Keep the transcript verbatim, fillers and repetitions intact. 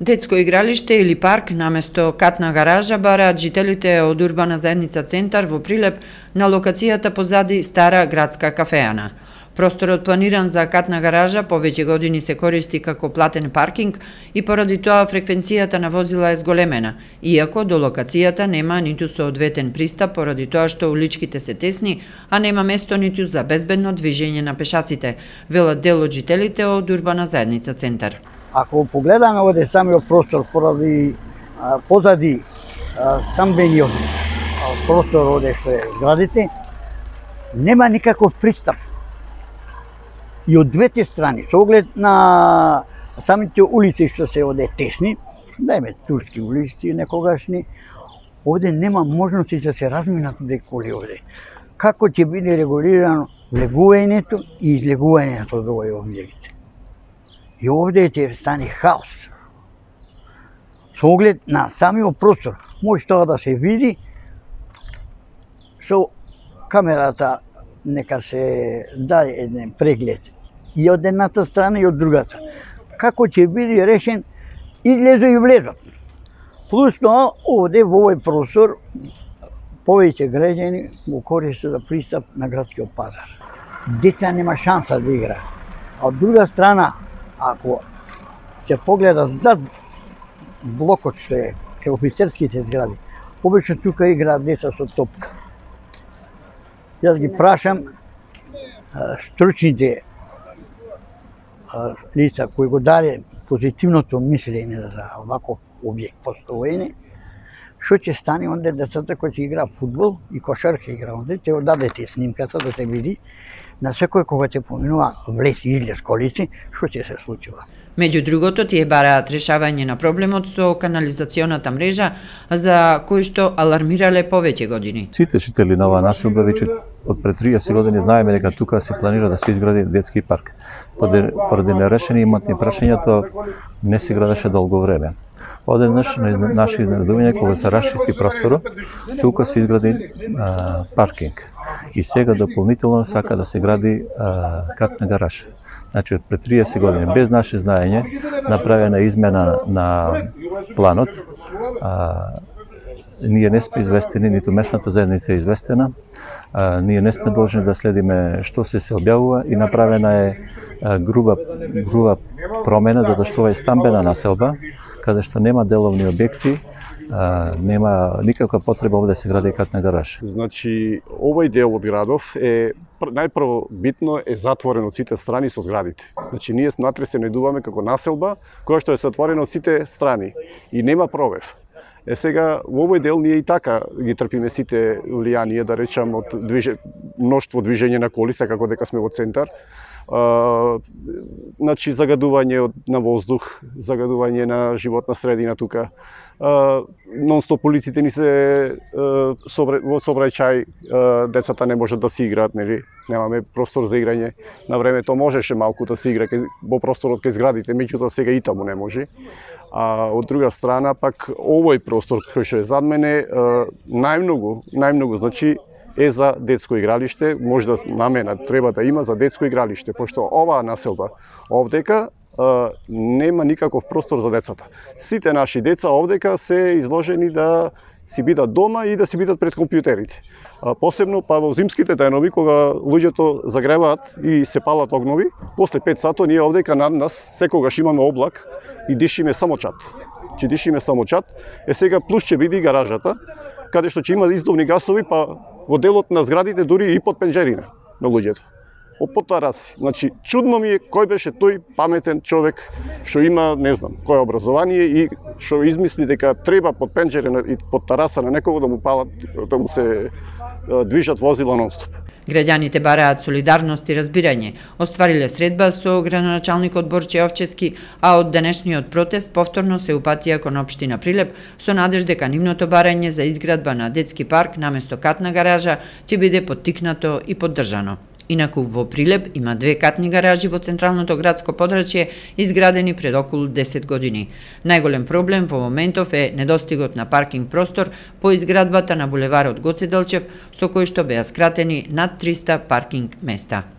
Детско игралиште или парк наместо катна гаража бараат жителите од урбана заедница Центар во Прилеп на локацијата позади стара градска кафеана. Просторот планиран за катна гаража повеќе години се користи како платен паркинг и поради тоа фреквенцијата на возила е зголемена, иако до локацијата нема ниту соодветен пристап поради тоа што уличките се тесни, а нема место ниту за безбедно движење на пешаците, велат дел од жителите од урбана заедница Центар. Ако погледаме овде самиот простор поради а, позади а, стамбениот простор овде што е зградите, нема никаков пристап. И од двете страни, со оглед на самите улици што се овде тесни, дајме турски улици некогашни, овде нема можности да се разминат овде коли овде. Како ќе биде регулирано влегувањето и излегувањето од овој објект? И овде ќе стане хаос. Со оглед на самиот простор, може тоа да се види со камерата, нека се даде еден преглед и од едната страна и од другата. Како ќе биде решен излезо и влезот. Плюс тоа, овде во овој простор повеќе граѓани го користат за пристап на градскиот пазар. Деца нема шанса да игра. А од друга страна, ако се погледа зад блокот што е кај офицерските згради, обично тука играат деца со топка. Јас ги прашам стручните лица кои го даде позитивното мислење за оваков објект постоење, што ќе стане онде децата кои ќе играат фудбал и кошарка игра онде, ќе го дадете снимката да се види на секој кога ќе поминува влез и излез колици, што ќе се случува. Меѓу другото, тие бараат решавање на проблемот со канализационата мрежа, за кој што алармирале повеќе години. Сите жители на оваа населба веќе од пред триесет години знаеме дека тука се планира да се изгради детски парк. Поради нерешени иматни прашања, тоа не се градеше долго време. Одеднаш на наше изненадување, кога се расчисти просторот, тука се изгради а, паркинг. И сега дополнително сака да се гради а, катна гаража. Значи, пред триесет години, без наше знаење, направена измена на планот. А, ние не сме известени, ниту местната заедница е известена. А, ние не сме должни да следиме што се се објавува и направена е а, груба, груба промена, затоа што ова е стамбена населба, каде што нема деловни објекти, а, нема никаква потреба овде да се гради катна гараж. Значи, овој дел од градов е најпрво битно е затворен од сите страни со зградите. Значи, ние внатре се најдуваме како населба која што е затворена од сите страни и нема пробив. Е сега во овој дел ние и така ги трпиме сите влијанија, да речам, од движе... мноштво движење на коли, како дека сме во Центар. А, значи загадување на воздух, загадување на животна средина тука. Нон-стоп полиците ни се собра... во собрајчај, децата не можат да си играат, нели? Немаме простор за играње. На времето можеше малку да се игра во просторот кај зградите, меѓутоа сега и таму не може. А од друга страна пак овој простор кој што е зад мене најмногу, најмногу значи е за детско игралиште, може да намена треба да има за детско игралиште, пошто оваа населба овдека нема никаков простор за децата. Сите наши деца овдека се изложени да си бидат дома и да си бидат пред компјутерите. Посебно па во зимските денови кога луѓето загреваат и се палат огнови, после пет сато ние овдека над нас секогаш имаме облак и дишиме само чат. Че дишиме само чат. Е сега плюс ќе биде и гаражата, каде што ќе има издувни гасови, па во делот на зградите дури и под пенџерина на луѓето. Под тараси. Значи, чудно ми е кој беше тој паметен човек што има, не знам, кој образование и што измисли дека треба под пенџерина и под тараса на некого да му палат, да му се движат возила нон-стоп. Граѓаните бараат солидарност и разбирање. Оствариле средба со градоначалникот Борче Овчевски, а од денешниот протест повторно се упатија кон општина Прилеп со надеж дека нивното барање за изградба на детски парк наместо катна гаража ќе биде поттикнато и поддржано. Инаку во Прилеп има две катни гаражи во централното градско подрачје изградени пред околу десет години. Најголем проблем во моментов е недостигот на паркинг простор по изградбата на булеварот Гоце Делчев, со кој што беа скратени над триста паркинг места.